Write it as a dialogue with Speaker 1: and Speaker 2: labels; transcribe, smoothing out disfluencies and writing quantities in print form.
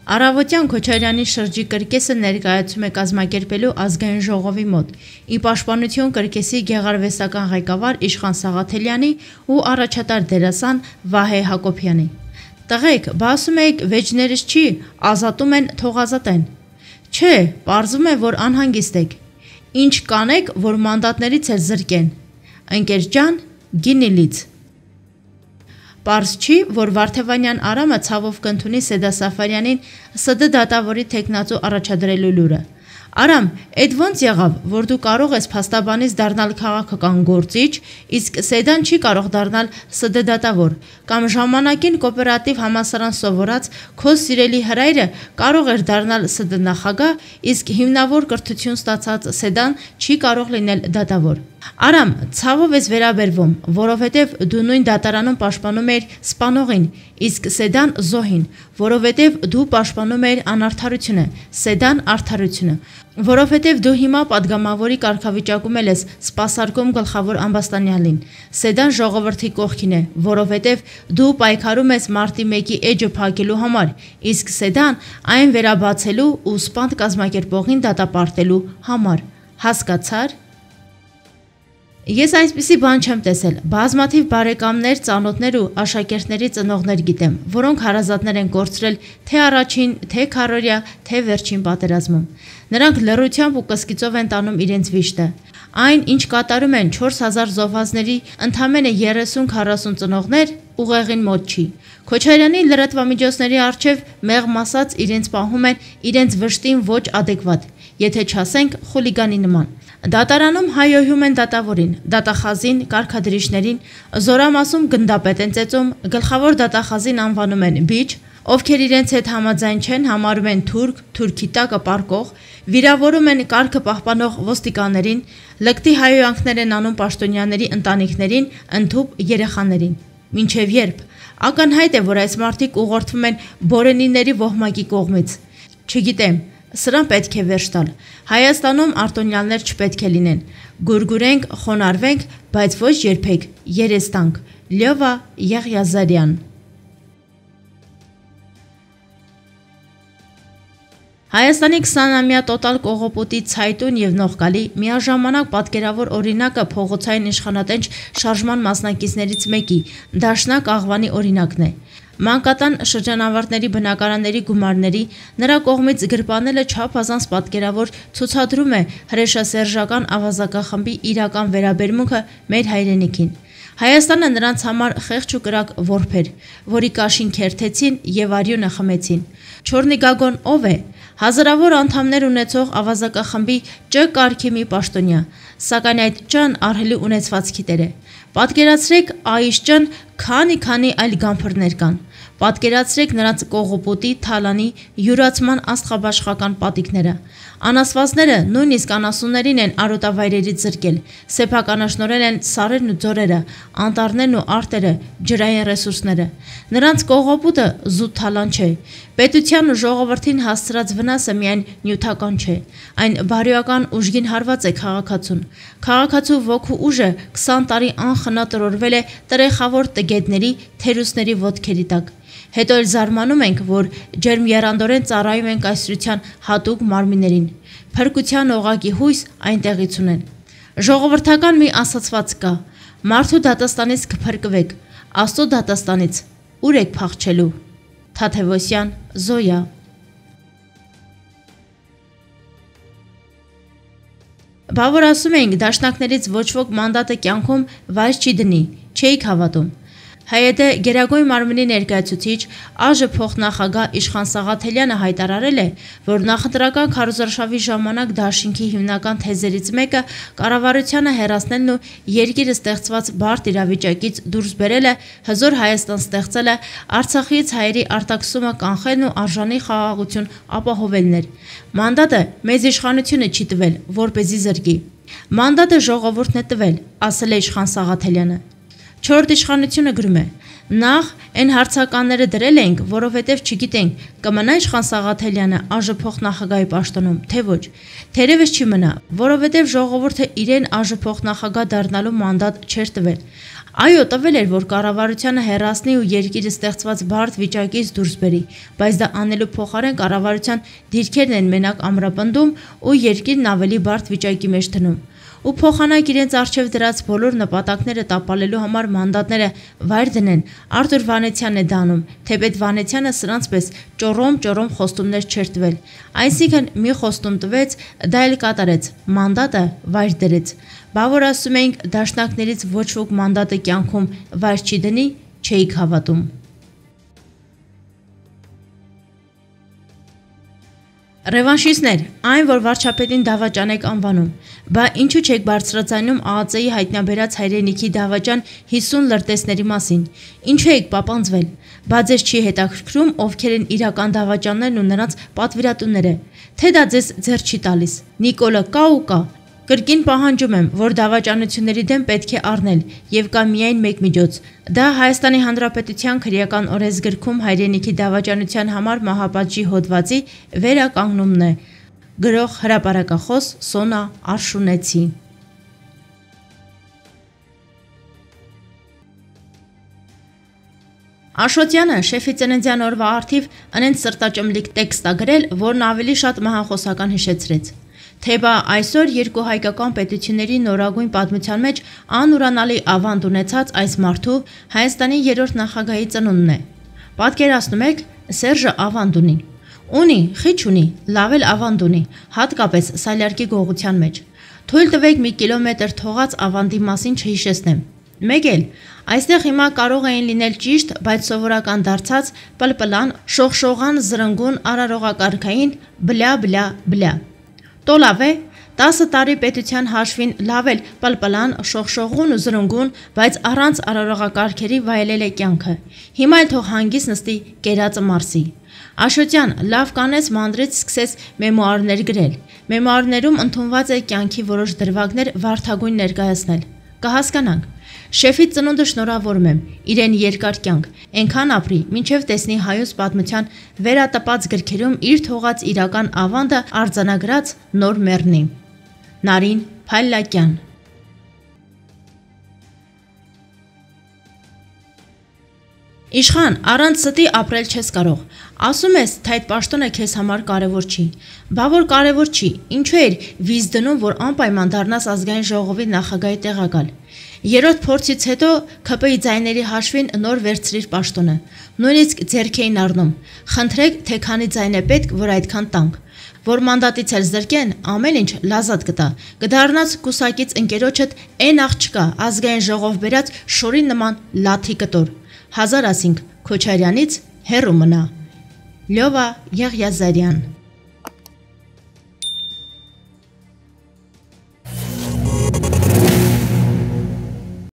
Speaker 1: Առավոտյան Քոչարյանի շրջի կրկեսը ներկայացում է կազմակերպելու ազգային ժողովի մոտ, ի պաշտպանություն կրկեսի գեղարվեստական ղեկավար Իշխան Սաղաթելյանի ու առաջատար դերասան Վահե Հակոբյանի։ Տղեկ, բա ասում եք վեճներս չի, ազատում են, թող ազատեն։ Չէ, պարզվում է, որ անհանգիստ եք։ Ինչ կանեք, որ մանդատներից էլ զրկեն։ Ընկեր ջան, գինիլից։ Պարզ չի, որ Վարդևանյան Արամը ցավով կընդունի Սեդա Սաֆարյանին ՍԴ դատավորի թեկնածու առաջադրելու լուրը։ Արամ, էդ ոնց եղավ, որ դու կարող ես փաստաբանից դառնալ քաղաքական գործիչ, իսկ Սեդան չի կարող դառնալ ՍԴ դատավոր, կամ ժամանակին կոոպերատիվ համալսարան սովորած քո սիրելի հրայրը կարող էր դառնալ ՍԴ նախագահ, իսկ հիմնավոր կրթություն ստացած Սեդան չի կարող լինել դատավոր։ Արամ, ցավով ես վերաբերվում, որովհետև դու նույն դատարանում պաշտպանում էիր սպանողին, իսկ Սեդան զոհին, որովհետև դու պաշտպանում էիր անարդարությունը, Սեդան արդարությունը, որովհետև դու հիմա падգամավորի կարգավիճակում ես սպասարկում գլխավոր ամբաստանյալին, Սեդան ժողովրդի կողքին է, որովհետև դու պայքարում ես մարտի 1-ի էջը փակելու համար, իսկ Սեդան այն վերաբացելու ու սպանդ կազմակերպողին դատապարտելու համար, հասկացար։ Ես այսպիսի բան չեմ տեսել, բազմաթիվ բարեկամներ, ծանոթներ ու աշակերտների ծնողներ գիտեմ, որոնք հարազատներ են կորցրել թե առաջին, թե քառորյա, թե վերջին պատերազմում։ Նրանք լռությամբ ու կսկիծով են տանում իրենց վիշտը։ Այն, ինչ կատարում են 4000 զոհվածների ընդամենը 30-40 ծնողներ, ուղեղին մոտ չի։ Քոչարյանի լրատվամիջոցների առջև մեղմ ասած իրենց պահում են իրենց վշտին ոչ ադեկվատ, եթե չասենք խուլիգանի նման։ Դատարանում հայոհում են դատավորին, դատախազին, կարգադրիչներին, զորամասում գնդապետ են ծեծում, գլխավոր դատախազին անվանում են բիչ, ովքեր իրենց հետ համաձայն չեն, համարում են թուրք, թուրքի տակը պառկող, վիրավորում են կարգը պահպանող ոստիկաններին, լկտի հայոյանքներ են անում պաշտոնյաների ընտանիքներին, ընդհուպ երեխաներին։ Մինչև երբ։ Ակնհայտ է, որ այս մարդիկ ուղղորդվում են բորենիների ոհմակի կողմից։ Չգիտեմ, սրան պետք է վերջ տալ։ Հայաստանում արտոնյալներ չպետք է լինեն։ Գուրգուրենք, խոնարհվենք, բայց ոչ երբեք երես տանք։ Լյովա Եղիազարյան։ Հայաստանի 20-ամյա տոտալ կողոպուտի ցայտուն եւ նողկալի միաժամանակ պատկերավոր օրինակը փողոցային իշխանատենչ շարժման մասնակիցներից մեկի Դաշնակ Աղվանի օրինակն է։ Մանկատան շրջանավարտների բնակարանների գումարների նրա կողմից գրպանելը չափազանց պատկերավոր ցուցադրում է հրեշասերժական ավազակախմբի իրական վերաբերմունքը մեր հայրենիքին։ Հայաստանը նրանց համար խեղճ ու կրակ որբ էր, որի կաշին քերթեցին եւ արյունը խմեցին։ Չորնիգագոն ով է։ Հազարավոր անդամներ ունեցող ավազակախմբի Չ կարգի մի պաշտոնյա, սակայն այդ Չ-ն ահռելի ունեցվածքի տեր է։ Պատկերացրեք այս Չ-ն քանի այլ գամփրներ կան։ Պատկերացրեք նրանց կողոպուտի, թալանի, յուրացման աստղաբաշխական պատիկները։ Անասվածները նույնիսկ անասուններին են արոտավայրերից զրկել, սեփականաշնորհել են սարերն ու ձորերը, անտառներն ու արտերը, ջրային ռեսուրսները։ Նրանց կողոպուտը զուտ թալան չէ։ Պետության ու ժողովրդին հասցրած վնասը միայն նյութական չէ, այն բարոյական ուժգին հարված է քաղաքացուն։ Քաղաքացու ոգու ուժը 20 տարի անխնա տրորվել է տրեխավոր տգետների, թերուսների ոտքերի տակ։ Հետո էլ զարմանում ենք, որ ջերմեռանդորեն ծառայում են կայսրության հատուկ մարմիններին։ Փրկության օղակի հույս այնտեղից ունեն։ Ժողովրդական մի ասացված կա. մարդու դատաստանից կփրկվեք, Աստծո դատաստանից ուր եք փախչելու։ Թադևոսյան, Զոյա։ Բա որ ասում էինք, դաշնակներից ոչ ոք մանդատը կյանքում վայր չի դնի, չէիք հավատում։ ՀՅԴ Գերագույն մարմնի ներկայացուցիչ ԱԺ փոխնախագահ Իշխան Սաղաթելյանը հայտարարել է, որ նախընտրական քարոզարշավի ժամանակ դաշինքի հիմնական թեզերից մեկը կառավարությանը հեռացնելն ու երկիրը ստեղծված բարդ իրավիճակից դուրս բերելը, հզոր Հայաստան ստեղծելը, Արցախից հայերի արտաքսումը կանխելն ու արժանի խաղաղություն ապահովելն էր։ Մանդատը մեծ իշխանությունը չի տվել, որպեսզի զրկի։ Մանդատը ժողովուրդն է տվել, ասել է Իշխան Սաղաթելյանը։ Չորրորդ իշխանությունը գրում է. նախ այն հարցականները դրել էինք, որովհետև չգիտենք կմնա Իշխան Սաղաթելյանը ԱԺ փոխնախագահի պաշտոնում, թե ոչ։ Թերևս չի մնա, որովհետև ժողովուրդը իրեն ԱԺ փոխնախագահ դառնալու մանդատ չէր տվել։ Այո, տվել էր, որ կառավարությանը հեռացնի ու երկիրը ստեղծված բարդ վիճակից դուրս բերի, բայց դա անելու փոխարեն կառավարության դիրքերն են մենակ ամրապնդում ու երկիրն ավելի բարդ վիճակի մեջ դնում։ Ու փոխանակ իրենց առջև դրած բոլոր նպատակները տապալելու համար մանդատները վայր դնեն, Արտուր Վանեցյանն է դանում, թեպետ Վանեցյանը սրանց պես ճոռոմ խոստումներ չէր տվել, այսինքն մի խոստում տվեց, դա էլ կատարեց, մանդատը վայր դրեց, բա որ ասում էինք դաշնակներից ոչ ոք մանդատը կյանքում վայր չի դնի, չէիք հավատում։ Ռևանշիստներ, այն, որ վարչապետին դավաճան եք անվանում, բա ինչու չեք բարձրացնում ԱԱԾ-ի հայտնաբերած հայրենիքի դավաճան 50 լրտեսների մասին, ինչու եք պապանձվել, բա ձեզ չի հետաքրքրում ովքեր են իրական դավաճաններն ու նրանց պատվիրատուները, թե դա ձեզ ձեռ չի տալիս, Նիկոլը կա ու կա, կրկին պահանջում եմ, որ դավաճանությունների դեմ պետք է առնել և կա միայն մեկ միջոց, դա Հայաստանի Հանրապետության քրեական օրենսգրքում հայրենիքի դավաճանության համար մահապատժի հոդվածի վերականգնումն է, գրող հրապարակախոս Սոնա Արշունեցի։ Աշոտյանը շեֆի ծննդյան օրվա առթիվ ընենց սրտաճմլիկ տեքստ ա գրել, որն ավելի շատ մահախոսական հիշեցրեց։ Թե բա այսօր երկու հայկական պետությունների նորագույն պատմության մեջ անուրանալի ավանդ ունեցած այս մարդու Հայաստանի երրորդ նախագահի ծնունդն է։ Պատկերացնում եք, Սերժը ավանդ ունի։ Ունի, խիչ ունի, լավ էլ ավանդ ունի, հատկապես Սալյարկի գողության մեջ։ Թույլ տվեք մի կիլոմետր թողած ավանդի մասին չհիշեցնեմ։ Մեկ էլ, այստեղ հիմա կարող էին լինել ճիշտ, բայց սովորական դարձած պլպլան, շողշողան, զրնգուն, արարողակարգային բլա։ Տո լավ է, 10 տարի պետության հաշվին լավ էլ պլպլան, շողշողուն ու զրնգուն, բայց առանց արարողակարգերի վայելել է կյանքը։ Հիմա էլ թող հանգիստ նստի կերածը մարսի։ Աշոտյան լավ կանեց մանրից սկսեց մեմուարներ գրել։ Մեմուարներում ընդունված է կյանքի որոշ դրվագներ վարդագույն ներկայացնել։ Կհասկանանք։ Շեֆի ծնունդը շնորհավորում եմ, իրեն երկար կյանք, այնքան ապրի, մինչև տեսնի հայոց պատմության վերատպած գրքերում իր թողած իրական ավանդը արձանագրած նոր մեռնի։ Նարին Փալլակյան։ Իշխան, առանց ստի ապրել չես կարող։ Ասում ես, թե այդ պաշտոնը քեզ համար կարևոր չի։ Բա որ կարևոր չի, ինչու էր վիզ դնում, որ անպայման դառնաս ազգային ժողովի նախագահի տեղակալ։ Երրորդ փորձից հետո ՔՊ-ի ձայների հաշվին նոր վերցրիր պաշտոնը։ Նույնիսկ ձեռք էին առնում։ Խնդրեք, թե քանի ձայն է պետք, որ այդքան տանք։ Որ մանդատից էլ զրկեն, ամեն ինչ լազատ կտա։ Կդառնաս կուսակից ընկերոջդ այն աղջկա, ազգային ժողով բերած շորի նման լաթի կտոր։ 1000 ասինք Քոչարյանից հեռու մնա։ Լյովա Եղիազարյան։